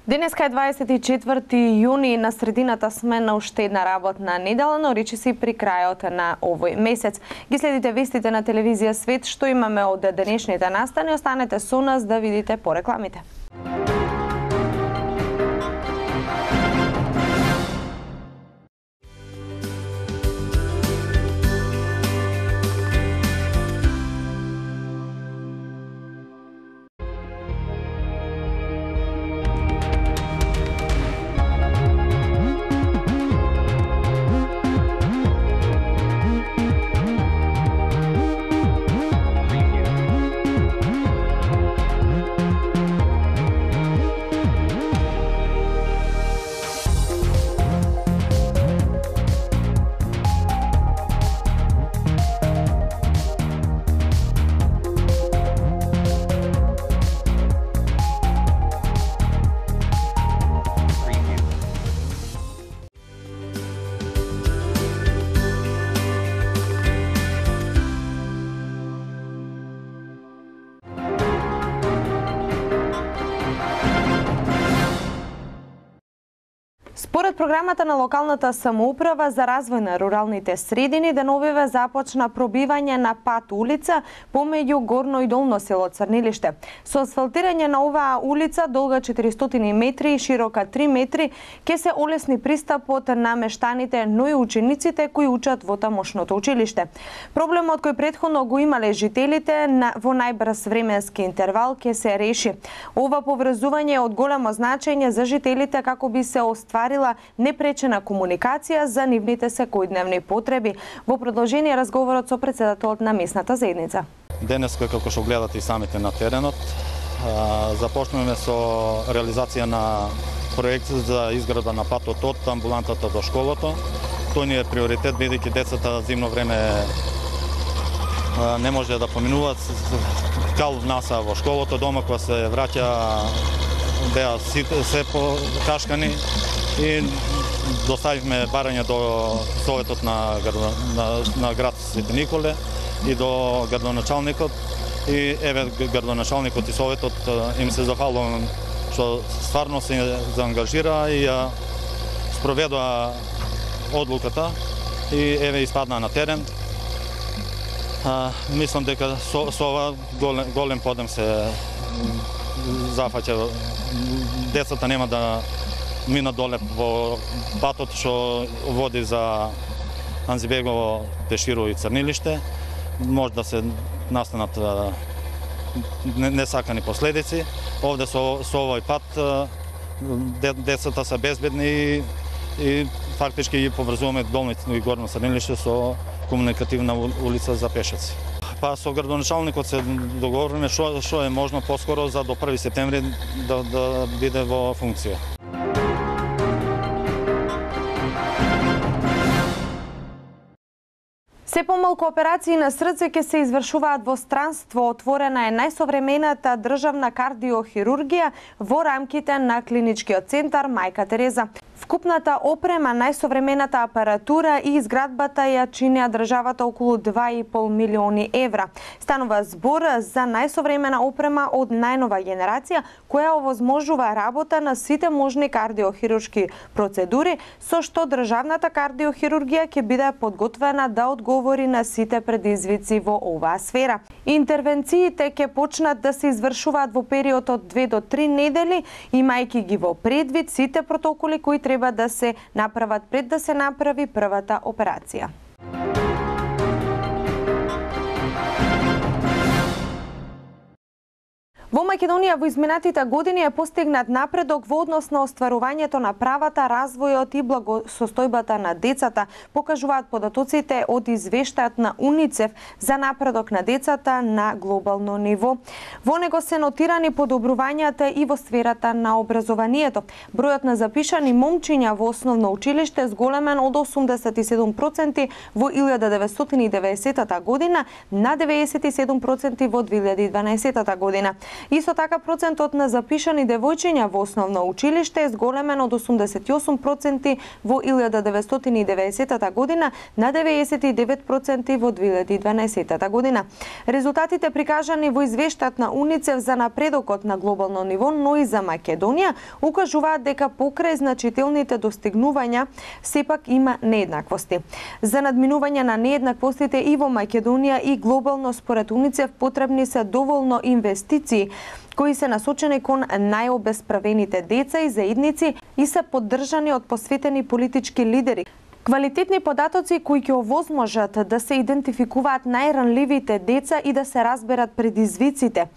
Денеска е 24 јуни, на средината сме на уште една работна недела, но речиси при крајот на овој месец. Ги следите вестите на телевизија Свет, што имаме од денешните настани. Останете со нас да видите по рекламите. Според програмата на локалната самоуправа за развој на руралните средини, деновиве започна пробивање на пат улица помеѓу Горно и Долно село Црнилиште. Со асфалтирање на оваа улица, долга 400 метри и широка 3 метри, ќе се олесни пристапот на мештаните, но и учениците кои учат во тамошното училиште. Проблемот кој претходно го имале жителите во најбрз временски интервал ќе се реши. Ова поврзување е од големо значење за жителите како би се остварила непречена комуникација за нивните секојдневни потреби. Во продолжение разговорот со претседателот на местната заедница. Денеска, како што гледате и самите на теренот, започнуваме со реализација на проект за изградба на патот од амбулантата до школото. Тој ни е приоритет, бидејќи децата зимно време не може да поминуваат. Кал внаса во школото, дома кога се враќа беа се покашкани и доставивме барање до Советот на град Свети Николе и до градоначалникот. И еве градоначалникот и Советот им се захвалувам што стварно се заангажира и ја спроведува одлуката и еве испадна на терен. Мислам дека со ова голем подем се зафаќа. Децата нема да мина доле во патот што води за Анзибегово, Пеширо и Црнилиште. Може да се настанат несакани последици. Овде со овој пат децата се безбедни и фактички ги поврзуваме Долно и Горно Црнилиште со комуникативна улица за пешаци. Па со градоначалникот се договориме што е можно поскоро за до 1 септември да биде во функција. Се помалку операции на срце ќе се извршуваат во странство. Отворена е најсовремената државна кардиохирургија во рамките на клиничкиот центар Мајка Тереза. Вкупната опрема, најсовремената апаратура и изградбата ја чинеа државата околу 2,5 милиони евра. Станува збор за најсовремена опрема од најнова генерација, која овозможува работа на сите можни кардиохируршки процедури, со што државната кардиохирургија ќе биде подготвена да одговори на сите предизвици во оваа сфера. Интервенциите ќе почнат да се извршуваат во период од 2 до 3 недели, имајќи ги во предвид сите протоколи кои треба да се направат пред да се направи првата операција. Во Македонија во изминатите години е постигнат напредок во однос на остварувањето на правата, развојот и благосостојбата на децата, покажуваат податоците од извештајот на УНИЦЕФ за напредок на децата на глобално ниво. Во него се нотирани подобрувањата и во сферата на образованието. Бројот на запишани момчиња во основно училиште зголемен од 87% во 1990 година на 97% во 2012 година. Исто така процентот на запишани девојчиња во основно училиште е зголемен од 88% во 1990 година на 99% во 2012 година. Резултатите прикажани во извештајот на УНИЦЕФ за напредокот на глобално ниво, но и за Македонија, укажуваат дека покрај значителните достигнувања сепак има нееднаквости. За надминување на нееднаквостите и во Македонија и глобално според УНИЦЕФ потребни се доволно инвестиции кои се насочени кон најобесправените деца и заедници и се поддржани од посветени политички лидери. Квалитетни податоци кои ќе овозможат да се идентификуваат најранливите деца и да се разберат предизвиците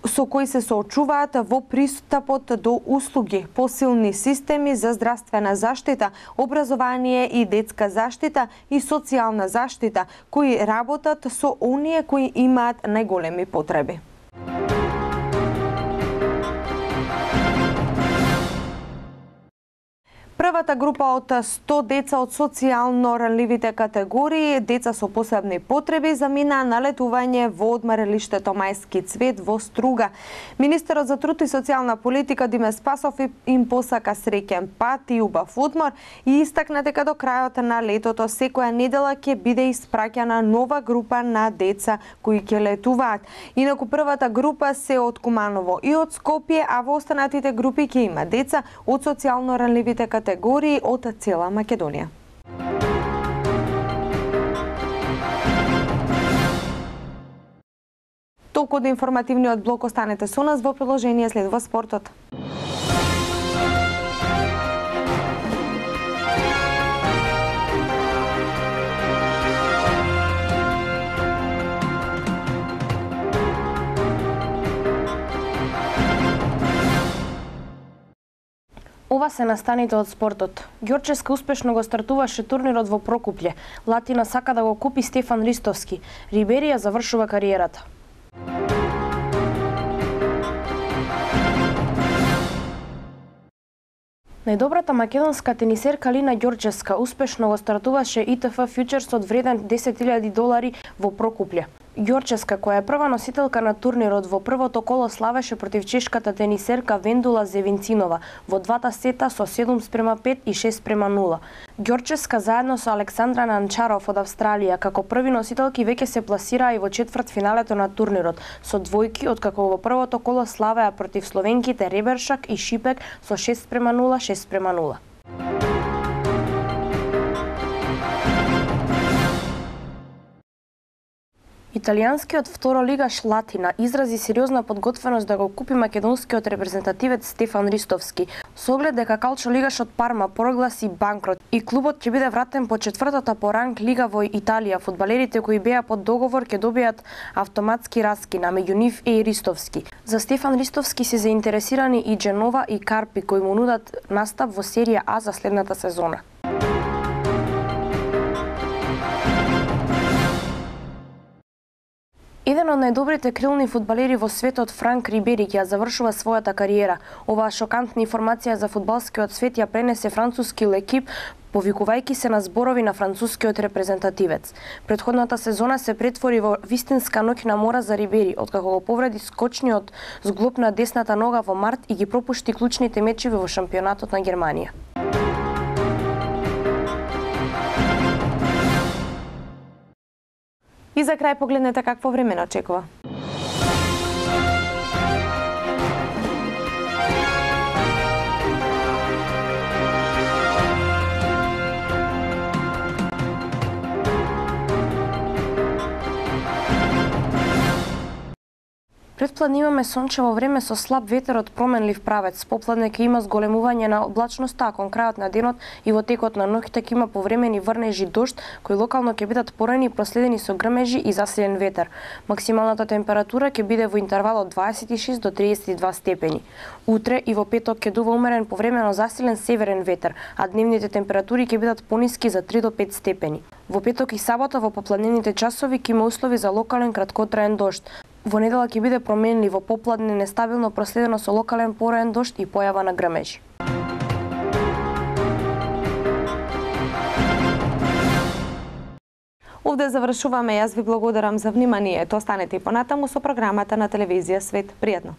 со кои се соочуваат во пристапот до услуги, посилни системи за здравствена заштита, образование и детска заштита и социјална заштита, кои работат со оние кои имаат најголеми потреби. Првата група од 100 деца од социјално ранливите категории, деца со посебни потреби, замина на летување во одмаралиштето Мајски цвет во Струга. Министерот за труд и социјална политика Диме Спасов им посака среќен пат и убав одмор и истакна дека до крајот на летото секоја недела ќе биде испраќана нова група на деца кои ќе летуваат. Инаку првата група се од Куманово и од Скопје, а во останатите групи ќе има деца од социјално ранливите категории од цела Македонија. Толку од информативниот блок, останете со нас, во приложение следува спортот. Ова се настаните од спортот. Ѓорческа успешно го стартуваше турнирот во Прокупле. Латина сака да го купи Стефан Ристовски. Рибери ја завршува кариерата. Најдобрата македонска тенисерка Лина Ѓорческа успешно го стартуваше ИТФ фјучерсот вреден $10,000 во Прокупле. Ѓорческа, која е прва носителка на турнирот, во првото коло славеше против чешката тенисерка Вендула Зевинцинова во двата сета со 7:5 и 6:0. Ѓорческа заедно со Александра Нанчаров од Австралија како први носителки веќе се пласираа и во четвртфиналето на турнирот со двојки, откако во првото коло славеа против словенките Ребершак и Шипек со 6:0, 6:0. Италијанскиот второлигаш Латина изрази сериозна подготвеност да го купи македонскиот репрезентативец Стефан Ристовски, со оглед дека калчолигашот Парма прогласи банкрот и клубот ќе биде вратен по четвртата по ранг лига во Италија. Фудбалерите кои беа под договор ќе добијат автоматски раскина, меѓу нив е и Ристовски. За Стефан Ристовски се заинтересирани и Дженова и Карпи, кои му нудат настап во серија А за следната сезона. Еден од најдобрите крилни фудбалери во светот, Франк Рибери, ќе завршува својата кариера. Оваа шокантна информација за фудбалскиот свет ја пренесе француски лекип, повикувајќи се на зборови на францускиот репрезентативец. Претходната сезона се претвори во вистинска ноќна мора за Рибери, откако го повреди скочниот зглоб на десната нога во март и ги пропушти клучните мечеви во шампионатот на Германија. И за крај погледнете какво време не очекува. Предплан имаме сончево време со слаб ветер од променлив правец. Попладне ќе има зголемување на облачноста, а кон крајот на денот и во текот на ноќта ќе има повремени врнежи дожд, кои локално ќе бидат порани, проследени со грмежи и засилен ветер. Максималната температура ќе биде во интервал од 26 до 32 степени. Утре и во петок ќе дува умерен повремено засилен северен ветер, а дневните температури ќе бидат пониски за 3 до 5 степени. Во петок и сабота во попладневните часови ќе има услови за локален краткотраен дожд. Во недела ќе биде променливо, попладне нестабилно, проследено со локален пораен дожд и појава на грмежи. Овде завршуваме. Јас ви благодарам за вниманието. Останете и понатаму со програмата на телевизија Свет. Пријатно.